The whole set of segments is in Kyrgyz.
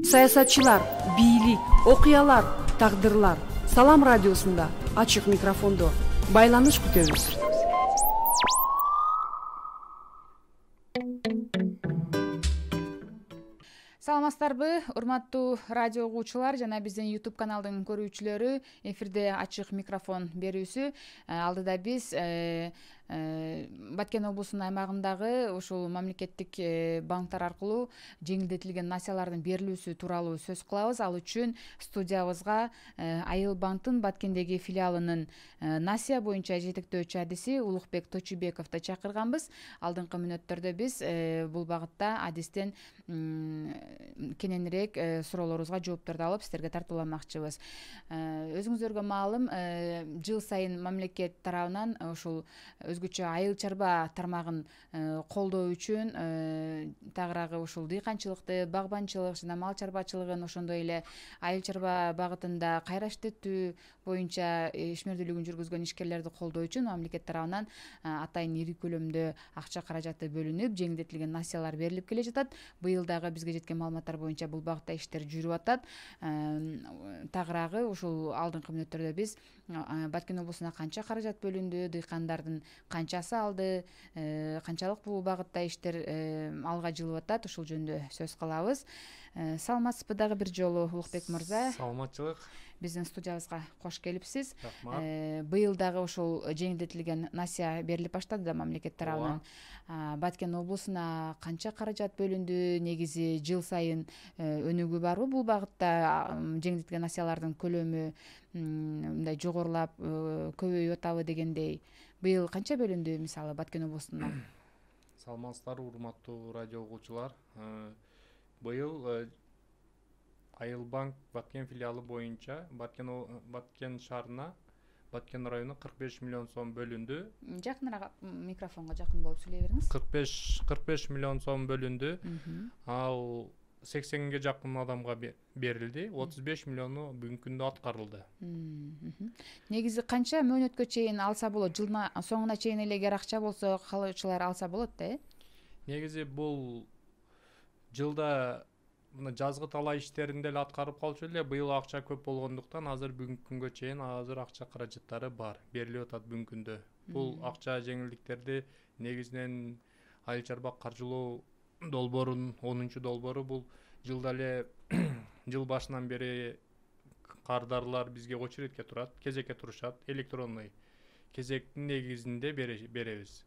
Саясатчылар, бийлик, окуялар, тагдырлар. Салам радиосунда ачык микрофондо байланыш күтөбүз. Саламатсыздарбы, урматтуу радио угуучулар жана биздин YouTube каналдын көрүүчүлөрү. Эфирде ачык микрофон берүүсү. Алдыда биз Баткен облусунун аймагындагы ушул мамлекеттик банктар аркылуу жеңилдетилген насиялардын берилүүсү тууралуу сөз кылабыз. Ал үчүн студиябызга Айыл банктын Баткендеги филиалынын насия боюнча жетектөөчү адиси Улукбек Точубековду чакырганбыз. Алдыңкы мүнөттөрдө биз бул багытта адистен кененирээк суроолорубузга жоопторду алып сиздерге тартууламакчыбыз. Өзүңүздөргө маалым, жыл сайын мамлекет тарабынан ушул өзгөчө айыл чарба тармагын колдоо үчүн тагыраагы ушул дыйканчылыкты, багбанчылык жана мал чарбачылыгын, ошондой эле айыл чарба багытында кайра иштетүү боюнча ишмердүүлүгүн жүргүзгөн ишкерлерди колдоо үчүн мамлекет тарабынан атайын ири көлөмдө акча каражаты бөлүнүп, жеңилдетилген насиялар берилип келе жатат. Быйыл дагы бизге жеткен маалыматтар боюнча бул багытта иштер жүрүп атат. Тагыраагы ушул алдыңкы мүнөттөрдө биз Баткен облусуна канча каражат бөлүндү, дыйкандардын канчасы алды, канчалык бул багытта иштер алга жылып атат, ушул жөнүндө сөз кылабыз. Саламатсызбы дагы бир жолу Улукбек мырза? Саламатчылык. Биздин студиябызга кош келипсиз. Рахмат. Быйыл дагы ушул жеңилдетилген насия берилип баштады да мамлекет тарабынан. Баткен облусуна канча каражат бөлүндү? Негизи жыл сайын өнүгүү барбы бул багытта? Жеңилдетилген насиялардын көлөмү мындай жогорулап көбөйүп атабы дегендей. Быйыл канча бөлүндү мисалы Баткен облусуна? Саламатсыздарбы, урматтуу радио угуучулар. Быйыл Айыл банк Баткен филиалы боюнча Баткен шаарына, Баткен районуна 45 миллион сом бөлүндү. Жакыныраак микрофонго жакын болуп сүйлөй бериңиз. 45 миллион сом бөлүндү. Ал 80ге жакын адамга берилди. 35 миллиону бүгүнкү күндө аткарылды. Негизи канча мөөнөткө чейин алса болот? Жылдын соңуна чейин эле эгер акча болсо каалоочулар алса болот да, Негизи бул жылда мына жазгы талаа иштерин деле аткарып калчу эле. Быйыл акча көп болгондуктан азыр бүгүнкү күнгө чейин акча каражаттары бар, берилип атат бүгүнкү күндө. Бул акча жеңилдиктерди негизинен айыл чарба каржылоо долбоорунун 10-долбоору. Бул жылда эле жыл башынан бери кардарлар бизге очередке турат, кезекке турушат, электронный кезектин негизинде беребиз.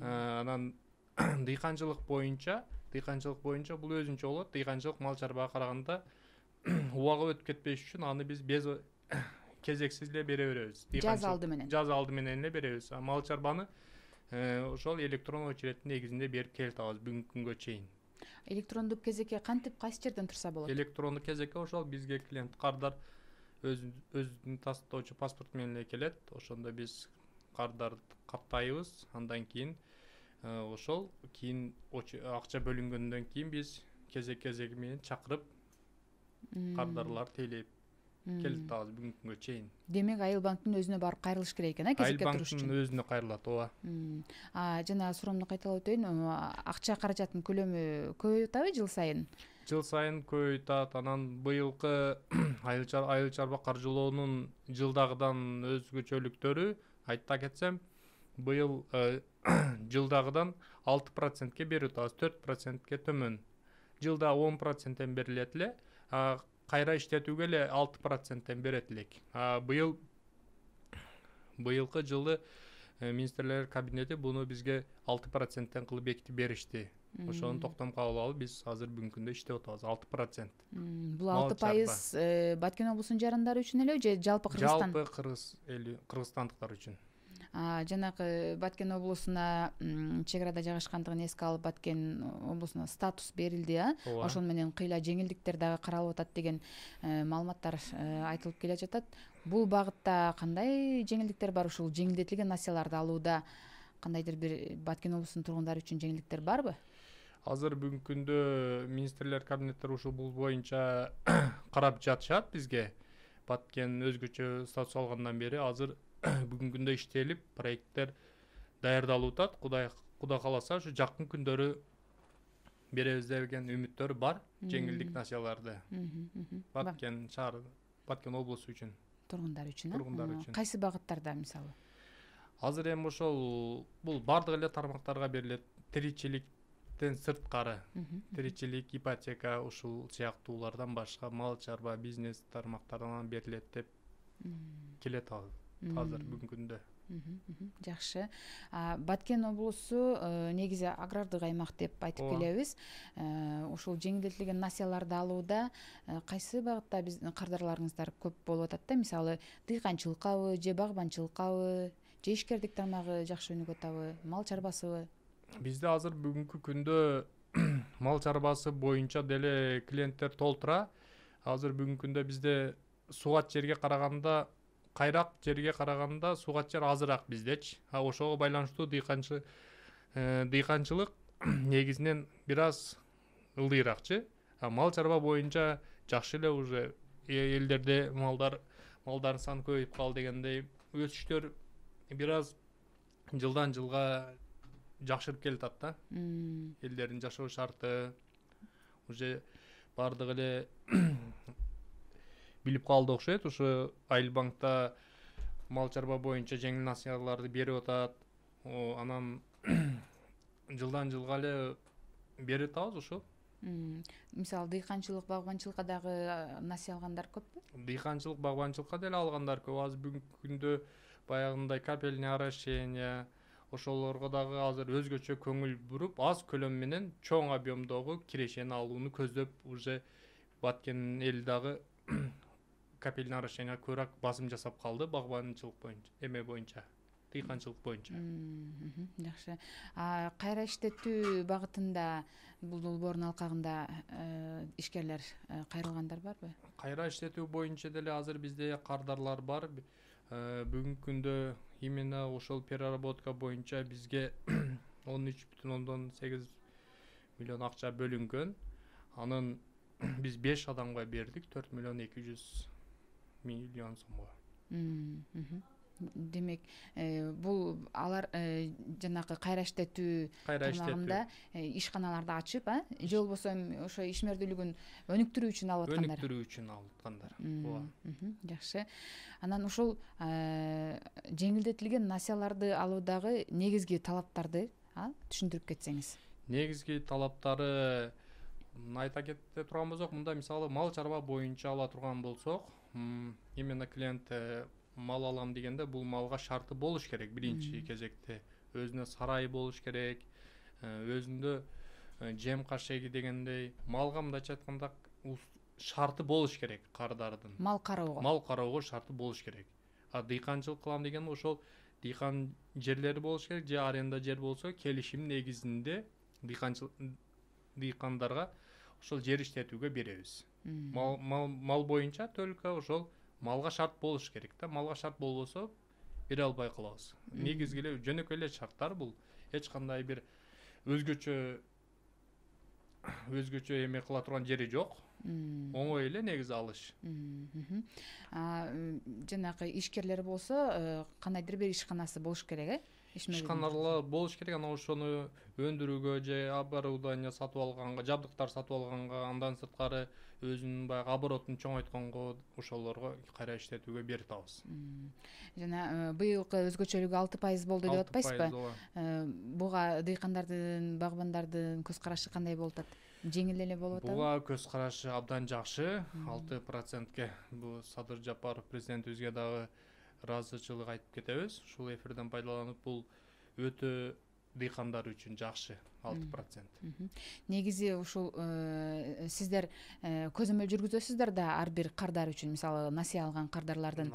Анан дыйканчылык боюнча бул өзүнчө болот. Дыйканчылык мал чарбага караганда убагы өтүп кетпеш үчүн аны биз без кезексиз эле бере беребиз. Жаз алды менен эле беребиз. Мал чарбаны ошол электрондук очередтин негизинде берип келе атабыз бүгүнкү күнгө чейин. Электрондук кезекке кантип кайсы жерден турса болот? Электрондук кезекке ошол бизге клиент кардар өзүнүн тастоочу паспорту менен эле келет. Ошондо биз кардарды каттайбыз. Андан кийин ошол акча бөлүнгөндөн кийин биз кезеги менен чакырып кардарлар тейлеп келип атабыз бүгүнкү күнгө чейин. Демек Айыл банктын өзүнө барып кайрылыш керек экен, кезекке туруш үчүн. Айыл банктын өзүнө кайрылат, ооба. Жана суроомду кайталап өтөйүн. Акча каражатынын көлөмү көбөйүп атабы жыл сайын? Жыл сайын көбөйүп атат. Анан быйылкы айыл чарба каржылоонун жылдагыдан өзгөчөлүктөрү айта кетсем, быйыл жылдагыдан 6%ке берип атабыз, 4%ке төмөн. Жылда 10%тен берилет эле, кайра иштетүүгө эле 6%тен берет элек. Быйылкы жылы министрлер кабинети буну бизге 6%тен кылып бекитип беришти. Ошону токтом кабыл алып биз азыр бүгүнкү күндө иштеп атабыз 6%. Бул 6% Баткен облусунун жарандары үчүн эле же жалпы Кыргызстан? Жалпы кыргызстандыктар үчүн. Жанагы Баткен облусуна чек арада жайгашкандыгын эске алып Баткен облусуна статус берилди, ошону менен кыйла жеңилдиктер дагы каралып атат деген маалыматтар айтылып келе жатат. Бул багытта кандай жеңилдиктер бар? Ушул жеңилдетилген насияларды алууда кандайдыр бир Баткен облусунун тургундары үчүн жеңилдиктер барбы? Азыр бүгүнкү күндө министрлер кабинеттери ушул бул боюнча карап жатышат бизге. Баткен өзгөчө статус алгандан бери азыр бүгүнкү күндө иштелип, проекттер даярдалып атат. Кудай кааласа, ушу жакын күндөрү беребиз деген үмүттөр бар. Жеңилдик насыяларды Баткен шаар, Баткен облусу үчүн, тургундар үчүн. тургундар үчүн. Кайсы багыттарда мисалы? Азыр эми ошол бул бардык эле тармактарга берилет. Тиричиликтен сырткары, тиричилик, ипотека, ушул сыяктуулардан башка мал чарба, бизнес тармактарынан берилет деп келет азыр бүгүнкү күндө. Жакшы. Баткен облусу негизи агрардык аймак деп айтып келебиз. Ушул жеңилдетилген насыяларды алууда кайсы багытта биздин кардарларыңыздар көп болуп атат да? Мисалы, дыйканчылыккабы, же багбанчылыккабы, же ишкердик тармагы жакшы өнүгүп атабы, мал чарбасыбы? Бизде азыр бүгүнкү күндө мал чарбасы боюнча деле клиенттер толтура. Азыр бүгүнкү күндө бизде суугат жерге караганда, кайрак жерге караганда суугат жер азыраак биздечи. Ошого байланыштуу дыйканчылык негизинен бир аз ылдыйраакчы. Мал чарба боюнча жакшы эле уже элдерде малдардын саны көбөйүп калды дегендей өсүштөр бир аз жылдан жылга жакшырып келатат да. Элдердин жашоо шарты уже бардык эле билип калды окшойт. Ушу Айыл банкта мал чарба боюнча жеңил насыяларды берип атат. Анан жылдан жылга эле берип атабыз ошо. Мисалы, дыйканчылык, багбанчылыкка дагы насыя алгандар көппү? Дыйканчылык, багбанчылыкка деле алгандар көп. Азыр бүгүнкү күндө баягындай капельный орошение, ошолорго дагы азыр өзгөчө көңүл буруп, аз көлөм менен чоң объемдогу кирешени алууну көздөп, уже Баткен эл дагы капельный орошениеге көбүрөөк басым жасап калды багбанчылык боюнча, дыйканчылык боюнча. Жакшы. Кайра иштетүү багытында бул долбоордун алкагында ишкерлер кайрылгандар барбы? Кайра иштетүү боюнча деле азыр бизде кардарлар бар. Бүгүнкү күндө именно ошол переработка боюнча бизге 13,8 миллион акча бөлүнгөн. Анын биз 5 адамга бердик, 4,2 миллион сомго. Демек, бул алар жанагы кайра иштетүү тармагында ишканаларды ачып, же болбосо ошо ишмердүүлүгүн өнүктүрүү үчүн алып аткандар? Өнүктүрүү үчүн алып аткандар. Жакшы. Анан ушул жеңилдетилген насыяларды алуудагы негизги талаптарды түшүндүрүп кетсеңиз. Негизги талаптары айта кете турган болсок, мында мисалы мал чарба боюнча ала турган болсок, именно клиент мал алам дегенде бул малга шарты болуш керек. Биринчи кезекте өзүнө сарайы болуш керек, өзүндө жем кашеги дегендей малга мындайча айтканда шарты болуш керек кардардын. Мал кароого. Мал кароого шарты болуш керек. Дыйканчылык кылам деген ошол дыйкан жерлери болуш керек, же аренда жер болсо келишим негизинде дыйкандарга ошол жер иштетүүгө беребиз. Мал боюнча только ошол малга шарт болуш керек да. Малга шарт болбосо бере албай калабыз. Негизги эле жөнөкөй эле шарттар бул. Эч кандай бир өзгөчө эме кыла турган жери жок. Оңой эле негизи алыш. Жанагы ишкерлер болсо, кандайдыр бир ишканасы болуш керек, Ишканалар болуш керек, анан ошону өндүрүүгө же оборудование сатып алганга, жабдыктар сатып алганга, андан сырткары өзүнүн баягы оборотун чоңойтконго, ошолорго кайра иштетүүгө берип атабыз. Жана быйылкы өзгөчөлүгү 6% болду деп атпайсызбы? Буга дыйкандардын, багбандардын көз карашы кандай болуп атат? Жеңил эле болуп атабы? Буга көз карашы абдан жакшы. 6%ке бул Садыр Жапаров президентибизге дагы ыраазычылык айтып кетебиз. Ушул эфирден пайдаланып, бул өтө дыйкандар үчүн жакшы 6%. Негизи ушул сиздер көзөмөл жүргүзөсүздөр да ар бир кардар үчүн, мисалы насыя алган кардарлардын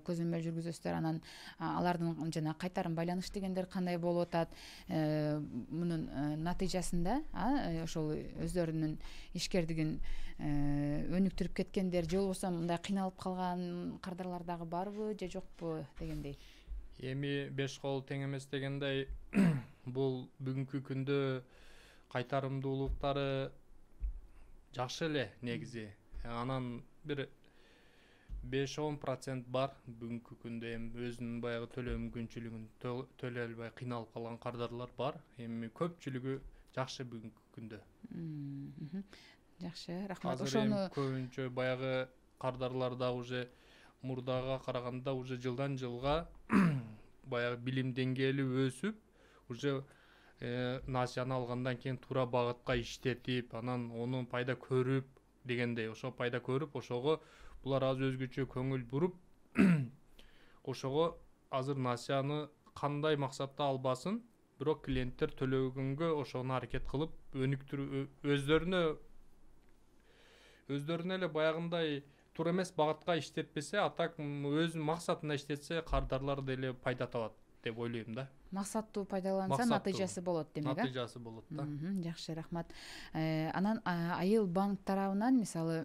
көзөмөл жүргүзөсүздөр, анан алардын жана кайтарым байланыш дегендер кандай болуп атат, мунун натыйжасында ошол өздөрүнүн ишкердигин өнүктүрүп кеткендер, же болбосо мындай кыйналып калган кардарлар дагы барбы же жокпу дегендей. Эми 5 кол тең эмес дегендей, бул бүгүнкү күндө кайтарымдуулуктары жакшы эле негизи. Анан бир 5-10% бар бүгүнкү күндө эми өзүнүн баягы төлөө мүмкүнчүлүгүн төлөй албай кыйналып калган кардарлар бар. Эми көпчүлүгү жакшы бүгүнкү күндө. Жакшы, рахмат. Азыр эми көбүнчө баягы кардарларда уже мурдага караганда уже жылдан жылга баягы билим деңгээли өсүп, уже насыяны алгандан кийин туура багытка иштетип, анан онун пайда көрүп дегендей, ошо пайда көрүп, ошого булар азыр өзгөчө көңүл буруп, ошого азыр насыяны кандай максатта албасын, бирок клиенттер төлөгөнгө ошону аракет кылып, өнүктүрүү өздөрүнө эле баягындай туура эмес багытка иштетпесе, а так өз максатына иштетсе, кардарлар деле пайда табат деп ойлойм да. Максаттуу пайдаланса, натыйжасы болот демек. Натыйжасы болот да. Жакшы, рахмат. Анан Айыл банк тарабынан мисалы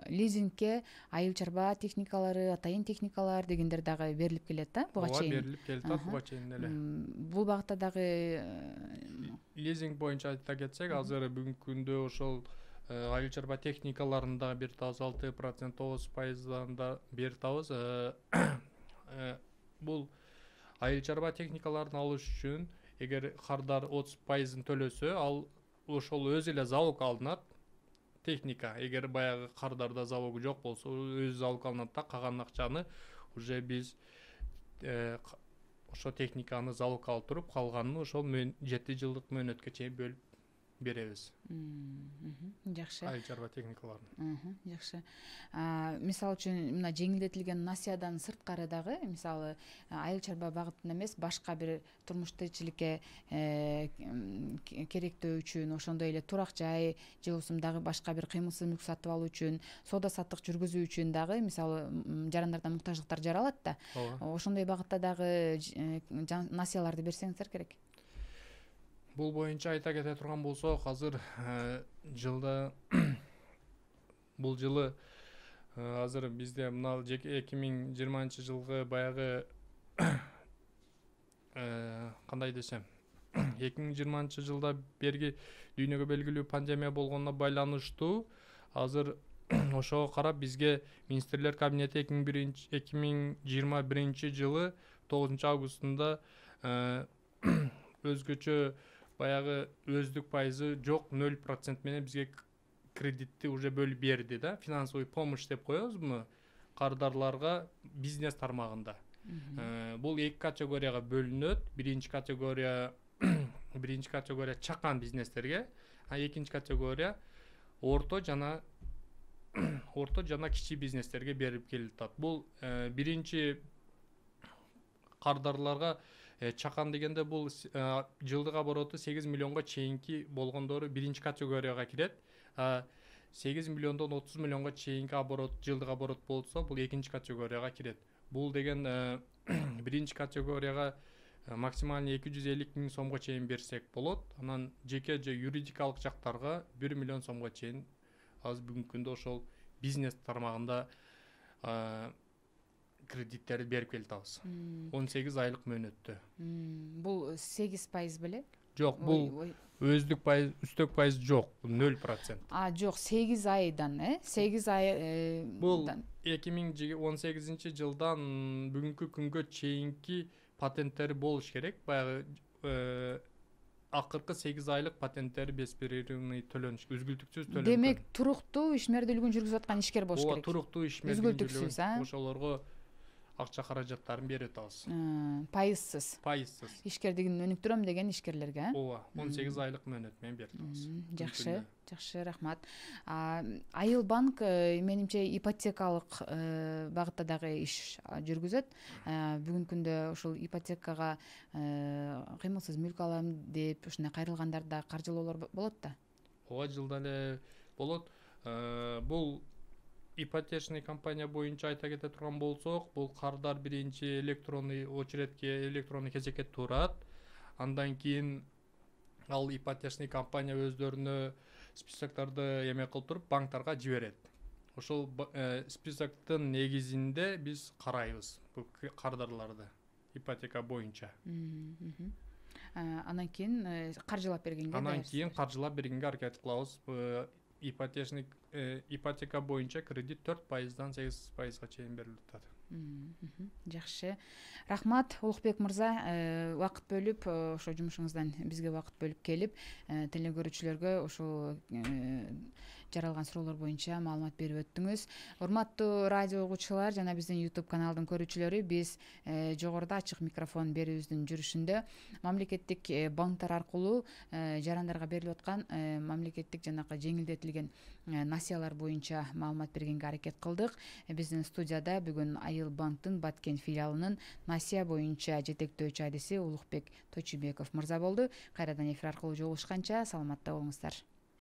лизингке айыл чарба техникалары, атайын техникалар дегендер дагы берилип келет да, буга чейин. Ооба, берилип келет, буга чейин эле. Бул багытта дагы лизинг боюнча айта кетсек, азыр бүгүнкү күндө ошол айыл чарба техникаларын да беритабыз, 6%, 9%дан да беритабыз. Бул айыл чарба техникаларын алыш үчүн эгер кардар 30%-ын төлөсө, ал ошол өзү эле залог алынат. Техника, эгер баягы кардарда залогу жок болсо, өзү залог алынат да, калган акчаны уже биз ошо техниканы залог алып туруп, калганын ошол 7 жылдык мөөнөткө чейин бөлүп беребиз. Жакшы. Айыл чарба техникаларын. Жакшы. Мисалы үчүн мына жеңилдетилген насыядан сырткары дагы, мисалы айыл чарба багытында эмес, башка бир турмуш тиричиликке керектөө үчүн, ошондой эле турак жай же болбосо дагы башка бир кыймылсыз мүлк сатып алуу үчүн, соода саттык жүргүзүү үчүн дагы мисалы жарандардан муктаждыктар жаралат да. Ошондой багытта дагы насыяларды берсеңиздер керек. Бул боюнча айта кете турган болсок, азыр жылда бул жылы азыр бизде мына 2020 жылгы баягы кандай десем, 2020 жылда берги дүйнөгө белгилүү пандемия болгонуна байланыштуу азыр ошого карап бизге министрлер кабинети 2021 жылы 9 августунда өзгөчө баягы өздүк пайызы жок 0% менен бизге кредитти уже бөлүп берди да, финансовый помощь деп коебузбу кардарларга бизнес тармагында. Бул эки категорияга бөлүнөт. Биринчи категория чакан бизнестерге, а экинчи категория орто жана кичи бизнестерге берип келатат. Бул биринчи кардарларга чакан дегенде бул жылдык обороту 8 миллионго чейинки болгондору биринчи категорияга кирет. 8 миллиондон 30 миллионго чейинки жылдык оборот болсо, бул экинчи категорияга кирет. Бул деген биринчи категорияга максималный 250 миң сомго чейин берсек болот. Анан жеке же юридикалык жактарга 1 миллион сомго чейин азыр бүгүнкү күндө ошол бизнес тармагында кредиттерди берип келатабыз. 18 айлык мөөнөттө. Бул 8% беле? Жок, бул өздүк пайыз, үстөк пайыз жок, 0%. Жок, 8 айдан, 8 ай. Бул 2018 жылдан бүгүнкү күнгө чейинки патенттери болуш керек. Баягы акыркы 8 айлык патенттери беспрерывный төлөнүш, үзгүлтүксүз төлөнүш. Демек, туруктуу ишмердүүлүгүн жүргүзүп аткан ишкер болуш керек. Ооба, туруктуу ишмердүүлүгүн, ошолорго акча каражаттарын берип атабыз. Пайызсыз. Пайызсыз. Ишкердигин өнүктүрөм деген ишкерлерге. Ооба, 18 айлык мөөнөт менен берип атабыз. Жакшы, жакшы, рахмат. Айыл банк менимче ипотекалык багытта дагы иш жүргүзөт. Бүгүнкү күндө ушул ипотекага кыймылсыз мүлк алам деп ушундай кайрылгандарда каржылоолор болот да. Ооба, жылда эле болот. Бул ипотечный компания боюнча айта кете турган болсок, бул кардар биринчи электронный очередке, электронный кезекке турат. Андан кийин ал ипотечный компания өздөрүнө списоктарды эме кылып туруп банктарга жиберет. Ошол списоктун негизинде биз карайбыз бул кардарларды ипотека боюнча. Анан кийин каржылап бергенге аракет кылабыз. Ипотека боюнча кредит 4%-дан 8%-га чейин берилип атат. Жакшы, рахмат Улукбек мырза, убакыт бөлүп ошо жумушуңуздан бизге убакыт бөлүп келип теле көрүүчүлөргө ушул жаралган суроолор боюнча маалымат берип өттүңүз. Урматтуу радио угуучулар жана биздин YouTube каналдын көрүүчүлөрү, биз жогоруда ачык микрофон берүүбүздүн жүрүшүндө мамлекеттик банктар аркылуу жарандарга берилип аткан мамлекеттик жанакы жеңилдетилген насыялар боюнча маалымат бергенге аракет кылдык. Биздин студияда бүгүн Айыл банктын Баткен филиалынын насыя боюнча жетектөөчү адиси Улукбек Тойчубеков мырза болду. Кайрадан эфир аркылуу жолугушканча саламатта болуңуздар.